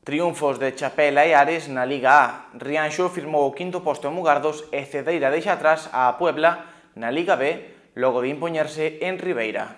Triunfos de Chapela e Ares na Liga A. Rianxo firmou o quinto posto en Mugardos e Cedeira deixa atrás a Puebla na Liga B, logo de impoñerse en Ribeira.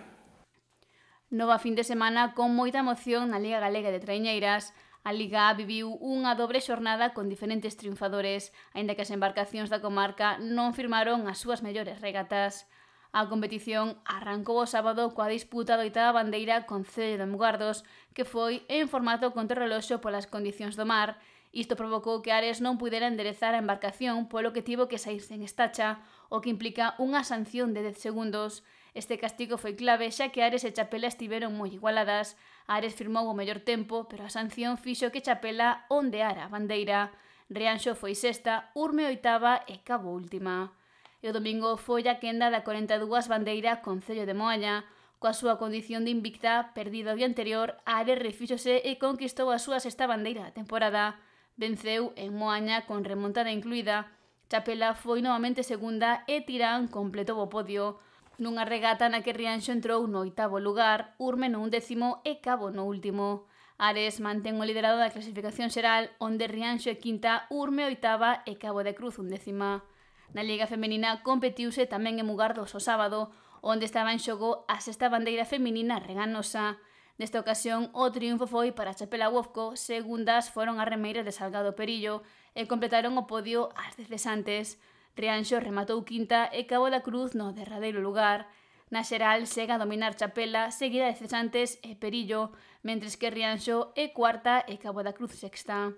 Nova fin de semana con moita emoción na Liga Galega de Traiñeiras. A Liga A viviu unha dobre xornada con diferentes triunfadores, aínda que as embarcacións da comarca non firmaron as súas mellores regatas. A competición arrancou o sábado coa disputa da oitava bandeira con Cello de Mugardos, que foi en formato contrarreloxo polas condicións do mar. Isto provocou que Ares non pudera enderezar a embarcación, polo que tivo que sair sen estacha, o que implica unha sanción de 10 segundos. Este castigo foi clave, xa que Ares e Chapela estiveron moi igualadas. Ares firmou o mellor tempo, pero a sanción fixo que Chapela ondeara a bandeira. Rianxo foi sexta, Urme oitava e Cabo última. E o domingo foi a quenda da 42 bandeira con Cello de Moaña. Coa súa condición de invicta, perdida o día anterior, Ares refíxose e conquistou a súa sexta bandeira da temporada. Venceu en Moaña con remontada incluída. Chapela foi novamente segunda e Tirán completou o podio. Nunha regata na que Rianxo entrou no oitavo lugar, Urme no 11º e Cabo no último. Ares mantén o liderado da clasificación xeral, onde Rianxo é quinta, Urme oitava e Cabo de Cruz 11ª. Na Liga Femenina competiuse tamén en Mugardos o sábado, onde estaba en xogo a sexta bandeira feminina reganosa. Nesta ocasión, o triunfo foi para Chapela Wofco, segundas foron as remeiras de Salgado Perillo e completaron o podio as 10 cesantes. Rianxo rematou quinta e Cabo da Cruz no derradeiro lugar. Na xeral chega a dominar Chapela, seguida de Cesantes e Perillo, mentres que Rianxo é cuarta e Cabo da Cruz sexta.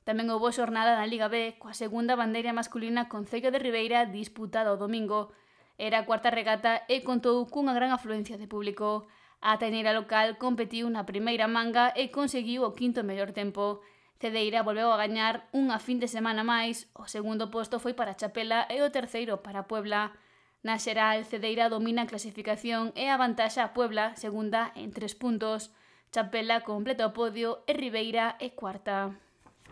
Tamén houbo xornada na Liga B, coa segunda bandeira masculina con Cello de Ribeira disputada o domingo. Era a cuarta regata e contou cunha gran afluencia de público. A taineira local competiu na primeira manga e conseguiu o quinto mellor tempo. Cedeira volveu a gañar unha fin de semana máis, o segundo posto foi para Chapela e o terceiro para Puebla. Na xeral, Cedeira domina a clasificación e avantaxa a Puebla, segunda en 3 puntos. Chapela completa o podio e Ribeira é cuarta.